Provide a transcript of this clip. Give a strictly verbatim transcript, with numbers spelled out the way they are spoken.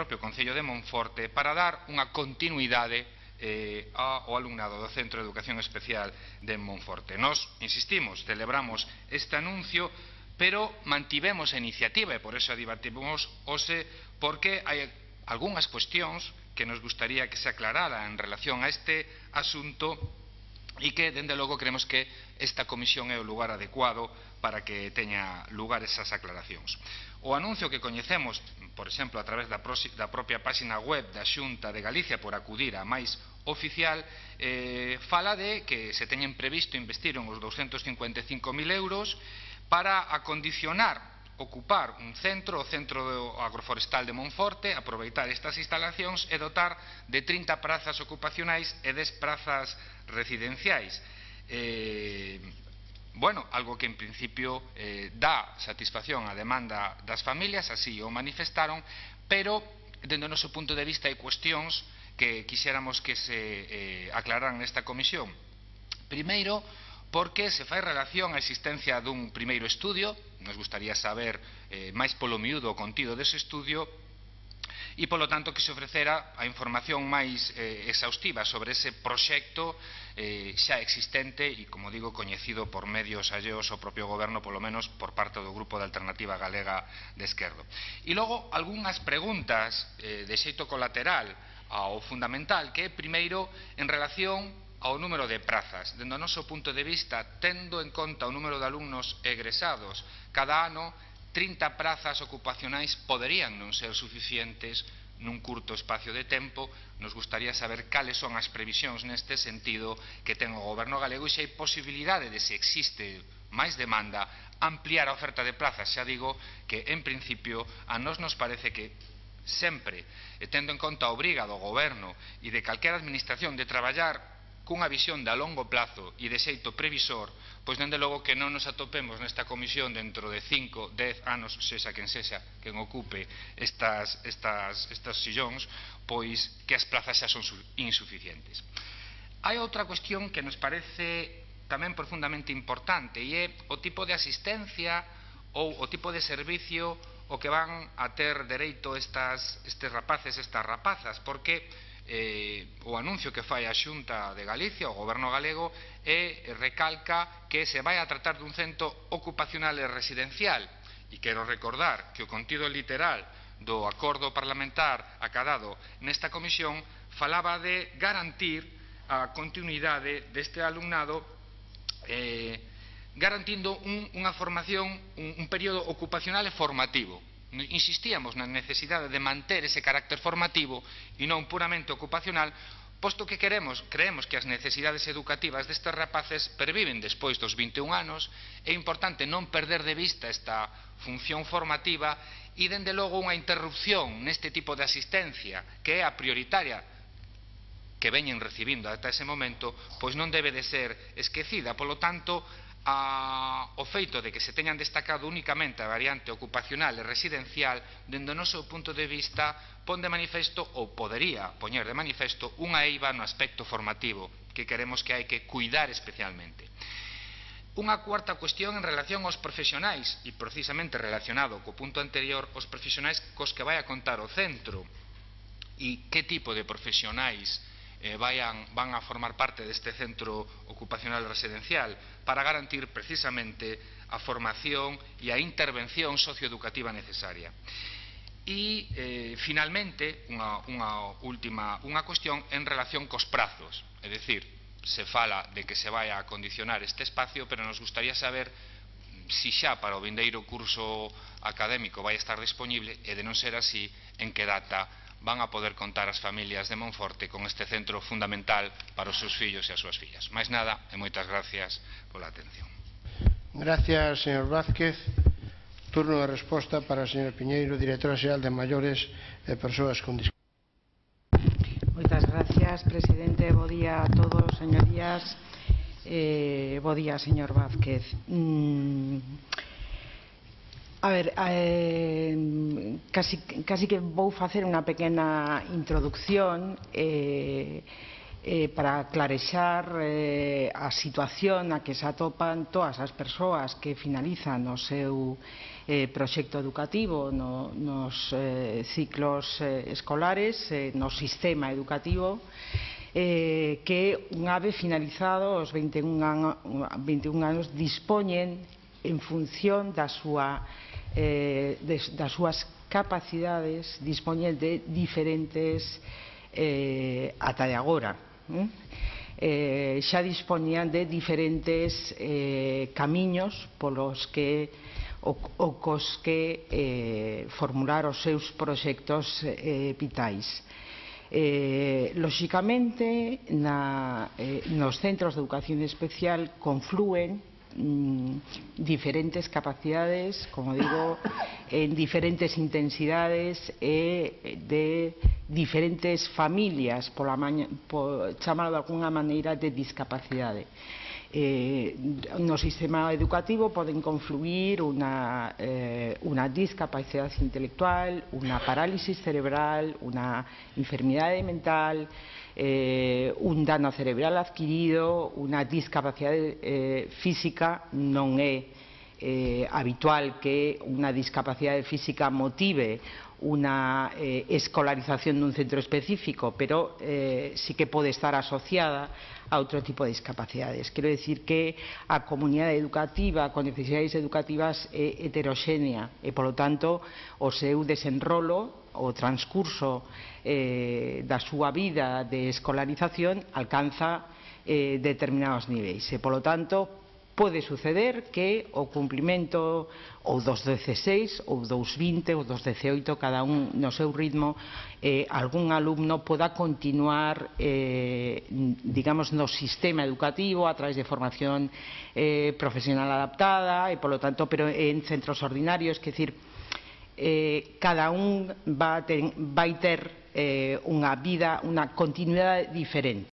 propio Concello de Monforte para dar unha continuidade eh, ao alumnado do Centro de Educación Especial de Monforte. Nos, insistimos, celebramos este anuncio, pero mantivemos a iniciativa e por eso a debatimos hoxe, porque hai algunhas cuestións que nos gustaría que se aclarara en relación a este asunto e que, dende logo, creemos que esta comisión é o lugar adecuado para que teña lugar esas aclaracións. O anuncio que coñecemos, por exemplo, a través da, da propia página web da Xunta de Galicia por acudir a máis oficial, eh, fala de que se teñen previsto investir uns douscentos cincuenta e cinco mil euros para acondicionar, ocupar un centro, o Centro Agroforestal de Monforte, aproveitar estas instalacións e dotar de trinta prazas ocupacionais e dez prazas residenciais. Eh, bueno, algo que en principio eh, dá satisfacción á demanda das familias, así o manifestaron, pero, dende o noso punto de vista, hai cuestións que quixéramos que se eh, aclararan nesta comisión. Primeiro, porque se fai relación á existencia dun primeiro estudio, nos gustaría saber eh, máis polo miúdo o contido dese estudio, e, polo tanto, que se ofrecera a información máis eh, exhaustiva sobre ese proxecto eh, xa existente e, como digo, coñecido por medios alleos ao propio goberno, polo menos por parte do Grupo de Alternativa Galega de Esquerdo. E logo, algunhas preguntas eh, de xeito colateral ao fundamental, que é, primeiro, en relación ao número de prazas. Dende o noso punto de vista, tendo en conta o número de alumnos egresados cada ano, trinta prazas ocupacionais poderían non ser suficientes nun curto espacio de tempo. Nos gustaría saber cales son as previsións neste sentido que ten o Goberno galego e se hai posibilidade de, se existe máis demanda, ampliar a oferta de plazas. Xa digo que, en principio, a nós nos parece que sempre, tendo en conta a obriga do Goberno e de calquera administración de traballar cunha visión de a longo plazo e de xeito previsor, pois dende logo que non nos atopemos nesta comisión dentro de cinco, dez anos, sexa quen sexa quen ocupe estas, estas, estas sillóns, pois que as plazas xa son insuficientes. Hai outra cuestión que nos parece tamén profundamente importante e é o tipo de asistencia ou o tipo de servicio o que van a ter dereito estas, estes rapaces, estas rapazas, porque Eh, o anuncio que fai a Xunta de Galicia, o Goberno galego, e recalca que se vai a tratar dun centro ocupacional e residencial, e quero recordar que o contido literal do acordo parlamentar acadado nesta comisión falaba de garantir a continuidade deste alumnado eh, garantindo un, unha formación, un, un período ocupacional e formativo. Insistíamos na necesidade de manter ese carácter formativo e non puramente ocupacional, posto que queremos, creemos que as necesidades educativas destes rapaces perviven despois dos vinte e un anos. É importante non perder de vista esta función formativa e, dende logo, unha interrupción neste tipo de asistencia, que é a prioritaria que veñen recibindo ata ese momento, pois non debe de ser esquecida. Polo tanto, A, o feito de que se teñan destacado únicamente a variante ocupacional e residencial, dende o noso punto de vista, pon de manifesto, ou podería poñer de manifesto, unha eiva no aspecto formativo que queremos que hai que cuidar especialmente. Unha cuarta cuestión en relación aos profesionais, e precisamente relacionado co punto anterior, os profesionais cos que vai a contar o centro e que tipo de profesionais Eh, vayan, van a formar parte deste centro ocupacional residencial para garantir precisamente a formación e a intervención socioeducativa necesaria. E, eh, finalmente, unha, unha última unha cuestión en relación cos prazos, é dicir, se fala de que se vai a acondicionar este espacio, pero nos gustaría saber si xa para o vindeiro curso académico vai estar disponible e, de non ser así, en que data van a poder contar as familias de Monforte con este centro fundamental para os seus fillos e as súas fillas. Máis nada, e moitas gracias pola atención. Gracias, señor Vázquez. Turno de resposta para a señora Piñeiro, directora xeral de Maiores e Persoas con Discapacidade. Moitas gracias, presidente. Bo día a todos, señorías. Eh, bo día, señor Vázquez. Mm. A ver, eh, casi, casi que vou facer unha pequena introducción eh, eh, para clarexar eh, a situación na que se atopan todas as persoas que finalizan o seu eh, proxecto educativo no, nos eh, ciclos eh, escolares, eh, no sistema educativo, eh, que unha vez finalizado os vinte e un anos dispoñen en función da súa, eh, de, das súas capacidades, dispoñen de diferentes eh, ata de agora Eh, xa dispoñían de diferentes eh, camiños polos que o, o cos que eh, formular os seus proxectos eh, vitais. Eh, lóxicamente, na, eh, nos centros de educación especial conflúen mm, diferentes capacidades, como digo, en diferentes intensidades e de diferentes familias, pola maña, por chamalo de alguna maneira, de discapacidade. Eh, no sistema educativo poden confluir unha, eh, unha discapacidade intelectual, unha parálisis cerebral, unha enfermidade mental, eh, un dano cerebral adquirido, unha discapacidade eh, física. Non é eh, habitual que unha discapacidade física motive unha eh, escolarización dun centro específico, pero eh, sí que pode estar asociada a outro tipo de discapacidades. Quero dicir que a comunidade educativa con necesidades educativas é heteroxénea e, polo tanto, o seu desenrolo, o transcurso eh, da súa vida de escolarización alcanza eh, determinados niveis e, polo tanto, pode suceder que o cumplimento ou dos dezaseis, ou dos vinte, ou dos dezaoito, cada un no seu ritmo, eh, algún alumno poda continuar, eh, digamos, no sistema educativo a través de formación eh, profesional adaptada, e, polo tanto, pero en centros ordinarios, que decir, eh, cada un va a ter, vai ter eh, unha vida, unha continuidade diferente.